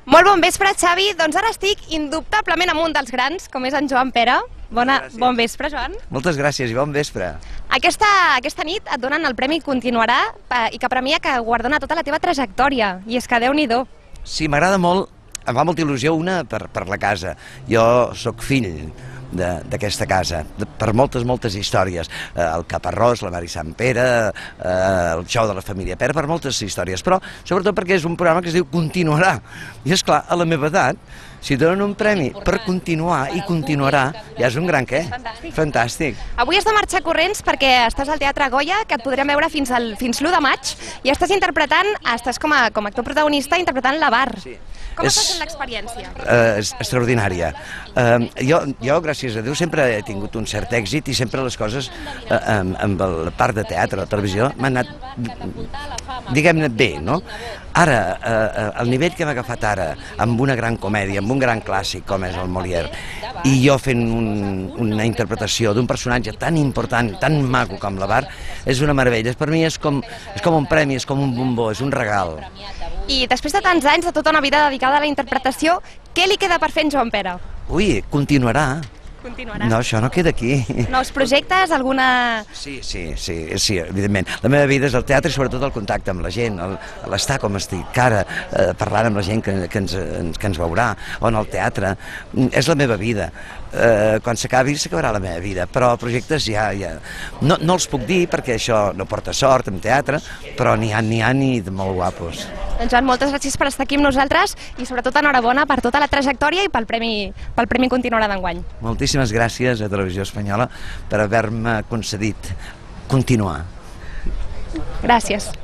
Molt bon vespre, Xavi. Doncs ara estic indubtablement amb un dels grans, com és en Joan Pera. Bon vespre, Joan. Moltes gràcies i bon vespre. Aquesta nit et donen el Premi Continuarà i que premia que guardona tota la teva trajectòria. I és que Déu-n'hi-do. Sí, m'agrada molt, em fa molta il·lusió una per la casa. Jo sóc fill d'aquesta casa, per moltes històries. El Caparrós, la Mari Sant Pere, el Xou de la família Pera, per moltes històries, però sobretot perquè és un programa que es diu Continuarà. I és clar, a la meva edat, si donen un premi per continuar i continuarà, ja és un gran què? Fantàstic. Avui has de marxar corrents perquè estàs al Teatre Goya, que et podrem veure fins l'1 de maig, i estàs com a actor protagonista interpretant l'Avar. Com està sent l'experiència? Extraordinària. Jo, gràcies a Déu, sempre he tingut un cert èxit i sempre les coses, amb la part de teatre, la televisió, m'han anat, diguem-ne, bé, no? Ara, el nivell que hem agafat ara, amb una gran comèdia, amb un gran clàssic com és el Molière, i jo fent una interpretació d'un personatge tan important, tan maco com l'Avar, és una meravella. Per mi és com un premi, és com un bombó, és un regal. I després de tants anys, de tota una vida dedicada a la interpretació, què li queda per fer en Joan Pera? Ui, continuarà. Continuarà. No, això no queda aquí. Nous projectes, alguna... Sí, evidentment. La meva vida és el teatre i sobretot el contacte amb la gent, l'estar com estic ara, parlant amb la gent que ens veurà, o en el teatre. És la meva vida. Quan s'acabi, s'acabarà la meva vida, però projectes ja... No els puc dir perquè això no porta sort en teatre, però n'hi ha ni de molt guapos. Doncs Joan, moltes gràcies per estar aquí amb nosaltres i sobretot enhorabona per tota la trajectòria i pel Premi Continuarà d'enguany. Moltíssimes gràcies a Televisió Espanyola per haver-me concedit continuar. Gràcies.